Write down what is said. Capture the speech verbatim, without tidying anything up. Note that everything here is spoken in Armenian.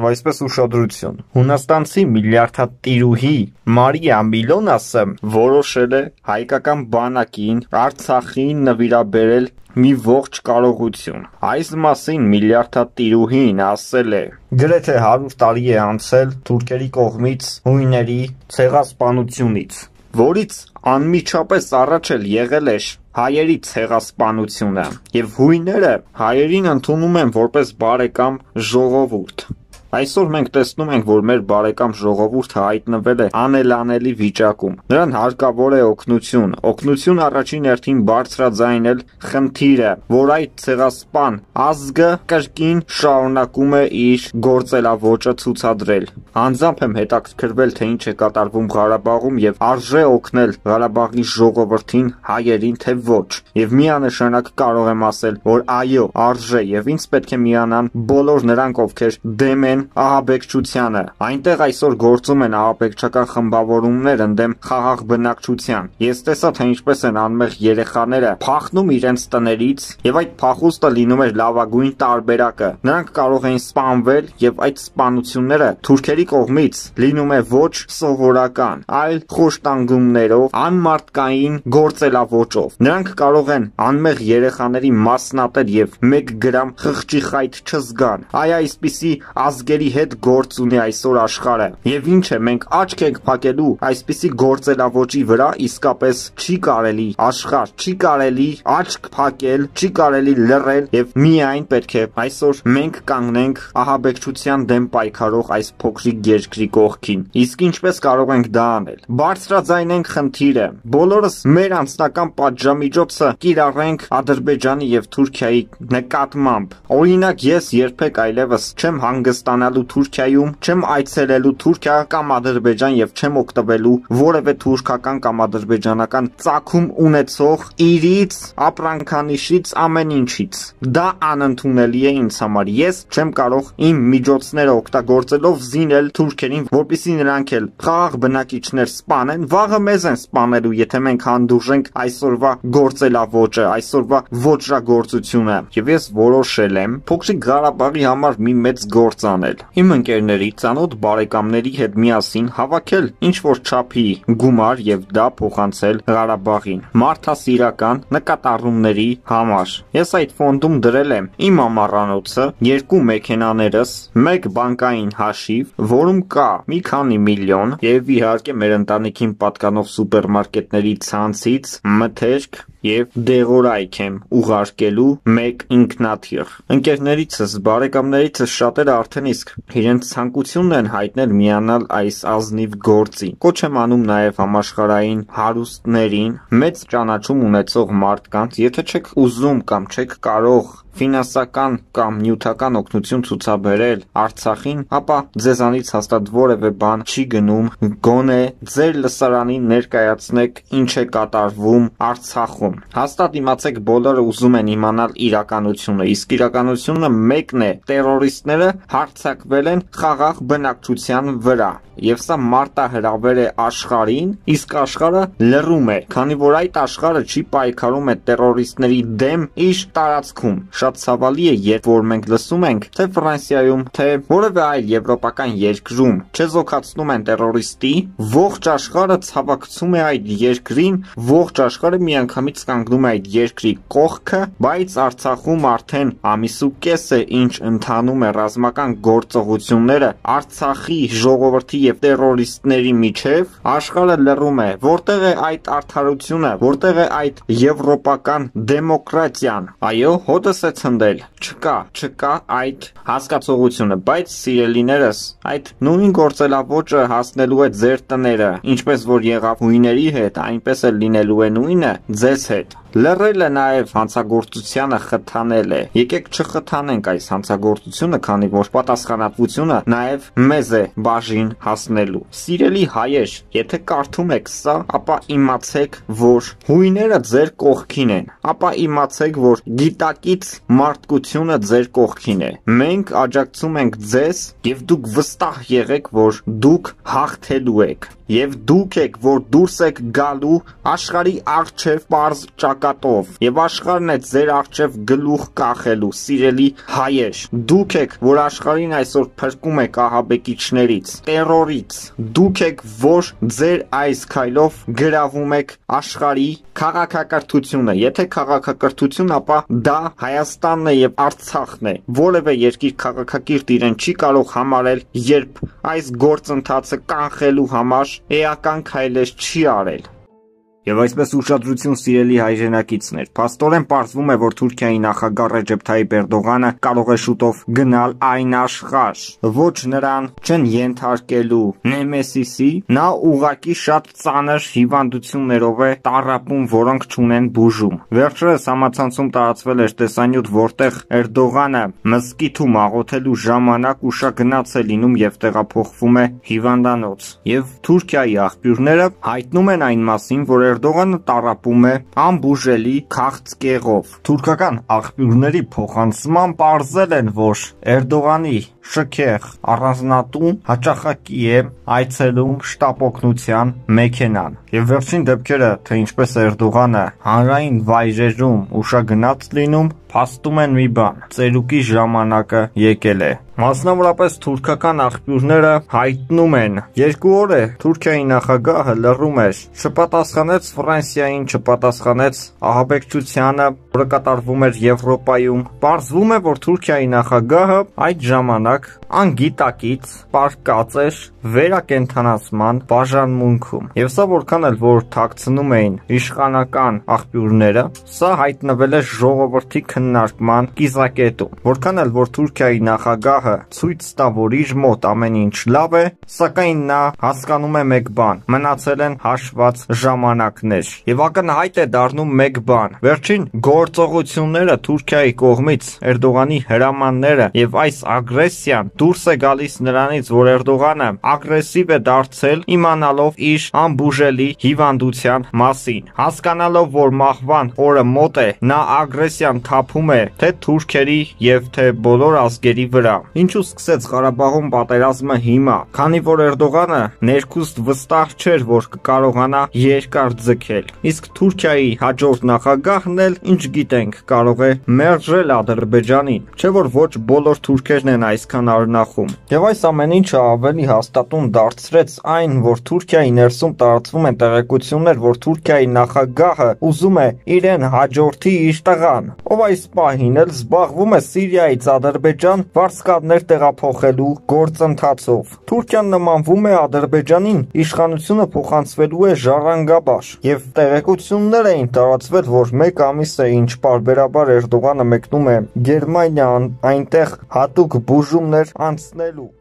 եւ այսպես ուշադրություն։ Հունաստանցի միլիարդատիրուհի Մարիա Միլոնասը որոշել է հայկական բանակին Արցախին նվիրաբերել մի ողջ կարողություն։ Այս մասին միլիարդատիրուհին ասել է. գրեթե հարյուր տարի է անցել թուրքերի կողմից հույների ցեղասպանությունից, որից անմիջապես առաջ էլ եղել էր հայերի ցեղասպանությունը, եւ հույները հայերին ընդունում են որպես բարեկամ ժողովուրդ։ Այսօր մենք տեսնում ենք, որ մեր բարեկամ ժողովուրդը հայտնվել է անելանելի վիճակում։ Նրան հարկավոր է օգնություն։ Օգնություն առաջին հերթին բարձրաձայնել խնդիրը, որ այդ ցեղասպան ազգը կրկին շարունակում է իր գործելավոճը ցուցադրել։ Անձամբ եմ հետաքրքրվել, թե ինչ է կատարվում Ղարաբաղում եւ արժե օգնել Ղարաբաղի ժողովրդին, հայերին, թե ոչ։ Եվ միանշանակ կարող եմ ասել, որ այո, արժե եւ ինձ պետք է միանան բոլոր նրանք, ովքեր դեմ են ահաբեկչությանը։ Այնտեղ այսօր գործում են ահաբեկչական խմբավորումներ ընդդեմ խաղաղ բնակչության։ Ես տեսա, թե ինչպես են անմեղ երեխաները փախնում իրենց տներից, եւ այդ փախուստը լինում էր լավագույն տարբերակը։ Նրանք կարող էին սպանվել, եւ այդ սպանությունները թուրքերի կողմից լինում է ոչ սովորական, այլ խոշտանգումներով, անմարդկային գործելավոճով։ Նրանք կարող են անմեղ երեխաների մասնատել եւ մեկ գրամ խղճի խայթ չզգան։ Այ այսպիսի ազգերի հետ գործ ունի այսօր աշխարհը։ Եվ ինչ է, մենք աչք ենք փակելու այսպիսի գործելավոճի վրա, իսկապես չի կարելի աշխարհ, չի կարելի աչք փակել, չի կարելի լռել եւ միայն պետք է այսօր մենք կանգնենք ահաբեկչության դեմ պայքարող այս փոքրիկ երկրի կողքին։ Իսկ ինչպես կարող ենք դա անել։ Բարձրաձայնենք խնդիրը, բոլորս մեր անձնական պատժամիջոցը կիրառենք Ադրբեջանի եւ Թուրքիայի նկատմամբ։ Օրինակ, ես երբեք այլևս չեմ հանգստանալու Թուրքիայում, չեմ այցելելու Թուրքիա կամ Ադրբեջան եւ չեմ օգտվելու որևէ թուրքական կամ ադրբեջանական ծագում ունեցող իրից, ապրանքանիշից, ամեն ինչից։ Դա անընդունելի է ինձ համար։ Ես չեմ կարող իմ միջոցները օգտագործելով զինել թուրքերին, որպեսզի նրանք էլ խաղաղ բնակիչներ սպանեն, վաղը մեզ են սպանելու, եթե մենք հանդուրժենք այսօրվա գործելավոճը, այսօրվա ոճրագործությունը։ Եվ ես որոշել եմ փոքրիկ Ղարաբաղի համար մի մեծ գործ անել։ Իմ ընկերների, ծանոթ բարեկամների հետ միասին հավաքել ինչ-որ չափի գումար եւ դա փոխանցել Ղարաբաղին մարդասիրական նկատառումների համար։ Ես այդ ֆոնդում դրել եմ իմ ամառանոցը, երկու մեքենաներս, մեկ բանկային հաշիվ, որում կա մի քանի միլիոն եւ իհարկե մեր ընտանիքին պատկանող սուպերմարկետների ցանցից մթերք եւ դեղորայք եմ ուղարկելու մեկ ինքնաթիռ։ Ընկերներիցս, բարեկամներիցս շատերը արդեն իսկ իրենց ցանկությունն են հայտնել միանալ այս ազնիվ գործին։ Կոչ եմ անում նաեւ համաշխարհային հարուստներին, մեծ ճանաչում ունեցող մարդկանց, եթե չեք ուզում կամ չեք կարող ֆինանսական կամ նյութական օգնություն ցուցաբերել Արցախին, ապա ձեզանից հաստատ որևէ բան չի գնում, գոնե ձեր լսարանին ներկայացնեք ինչ է կատարվում Արցախում։ Հաստատ իմացեք, բոլորը ուզում են իմանալ իրականությունը, իսկ իրականությունը մեկն է՝ տերորիստները հարձակվել են խաղաղ բնակչության վրա։ Եվ սա մարտահրավեր է աշխարհին, իսկ աշխարհը լռում է, քանի որ այդ աշխարհը չի պայքարում է տերորիստների դեմ իր տարածքում։ Շատ ցավալի է, երբ որ մենք լսում ենք, թե Ֆրանսիայում, թե որևէ այլ եվրոպական երկրում չեզոքացնում են տերորիստի, ողջ աշխարհը ցավակցում է այդ երկրին, ողջ աշխարհը միանգամից կանգնում է այդ երկրի կողքը, բայց Արցախում արդեն ամիս ու կես է ինչ ընթանում է ռազմական գործողությունները Արցախի ժողովրդի եւ տերորիստների միջև, աշխարհը լռում է։ Որտեղ է այդ արդարությունը, որտեղ է այդ եվրոպական դեմոկրատիան։ Այո, հոտս է ցնդել։ Չկա, չկա այդ հասկացողությունը, բայց սիրելիներս, այդ նույն գործելավոճը հասնելու է ձեր տները, ինչպես որ եղավ հույների հետ, այնպես էլ լինելու է նույնը ձեզ հետ։ Լռելը նաև հանցագործությանը խթանել է։ Եկեք չխթանենք այս հանցագործությունը, քանի որ պատասխանատվությունը նաև մեզ է բաժին հասնելու։ Սիրելի հայեր, եթե կարդում եք սա, ապա իմացեք, որ հույները ձեր կողքին են, ապա իմացեք, որ գիտակից մարդկությունը ձեր կողքին է։ Մենք աջակցում ենք ձեզ եւ դուք վստահ եղեք, որ դուք հաղթելու եք։ Եվ դուք եք, որ դուրս եք գալու աշխարհի առջև պարզ ճակ ճակատով եւ աշխարհն է ձեր առջև գլուխ կախելու, սիրելի հայեր։ Դուք եք, որ աշխարհին այսօր փրկում եք ահաբեկիչներից, տերորից։ Դուք եք, որ ձեր այս քայլով գրավում եք աշխարհի քաղաքակրթությունը։ Եթե քաղաքակրթություն, ապա դա Հայաստանն է եւ Արցախն է։ Որևէ երկիր քաղաքակիրթ իրեն չի կարող համարել, երբ այս գործընթացը կանխելու համար էական քայլեր չի արել։ Եվ այսպես ուշադրություն սիրելի հայրենակիցներ, փաստորեն պարզվում է, որ Թուրքիայի նախագահ Ռեջեփ Թայիփ Էրդողանը կարող է շուտով գնալ այն աշխարհ, ոչ նրան չեն ենթարկելու Նեմեսիսի, նա ուղղակի շատ ծանր հիվանդություններով է տառապում, որոնք չունեն բուժում։ Վերջերս համացանցում տարածվել էր տեսանյութ, որտեղ Էրդողանը մզկիթում աղոթելու ժամանակ ուշագնաց է լինում եւ տեղափոխվում է հիվանդանոց։ Եվ Թուրքիայի աղբյուրները հայտնում են այն մասին, որ Էրդողանը տառապում է անբուժելի քաղցկեղով։ Թուրքական աղբյուրների փոխանցման պարզել են, որ Էրդողանի շքեղ առանձնատուն հաճախակի է այցելում շտապօգնության մեքենան։ Եվ վերջին դեպքերը, թե ինչպես Էրդողանը հանրային վայրերում ուշագնաց լինում, փաստում են մի բան՝ ծերուկի ժամանակը եկել է։ Մասնավորապես թուրքական աղբյուրները հայտնում են, երկու օր է Թուրքիայի նախագահը լռում էր, չպատասխանեց Ֆրանսիային, չպատասխանեց ահաբեկչությանը, որը կատարվում էր Եվրոպայում։ Պարզվում է, որ Թուրքիայի նախագահը այդ ժամանակ անգիտակից պարկած էր վերակենդանացման բաժանմունքում։ Եվ սա որքան էլ որ թաքցնում էին իշխանական աղբյուրները, սա հայտնվել է ժողովրդի քննարկման կիզակետում։ Որքան էլ որ Թուրքիայի նախագահը ցույց տա, որ իր մոտ ամեն ինչ լավ է, սակայն նա հասկանում է մեկ բան՝ մնացել են հաշված ժամանակներ։ Եվ ակնհայտ է դառնում մեկ բան՝ վերջին գործողությունները Թուրքիայի կողմից, Էրդողանի հրամանները եւ այս ագրեսիան դուրս է գալիս նրանից, որ Էրդողանը ագրեսիվ է դարձել, իմանալով իր անբուժելի հիվանդության մասին, հասկանալով, որ մահվան օրը մոտ է, նա ագրեսիան թափում է թե թուրքերի եւ թե բոլոր ազգերի վրա։ Ինչու սկսեց Ղարաբաղում պատերազմը հիմա, քանի որ Էրդողանը ներքուստ վստահ չէր, որ կկարողանա երկար ձգել։ Իսկ Թուրքիայի հաջորդ նախագահն էլ, ինչ գիտենք, կարող է մերժել Ադրբեջանին, չէ՞ որ ոչ բոլոր թուրքերն են այսքան արնախում։ Եվ այս ամեն ինչը ավելի հաստատուն դարձրեց այն, որ Թուրքիայի ներսում տարածվում են տեղեկություններ, որ Թուրքիայի նախագահը ուզում է իրեն հաջորդի իր տղան, ով այս պահին էլ զբաղվում է Սիրիայից Ադրբեջան վարձկաբներ տեղափոխելու գործընթացով։ Թուրքիան նմանվում է Ադրբեջանին, իշխանությունը փոխանցվելու է ժառանգաբար։ Եվ տեղեկություններ էին տարածվել, որ մեկ ամիս է ինչ պարբերաբար Էրդողանը մեկնում է Գերմանիա, այնտեղ հատուկ բուժումներ անցնելու։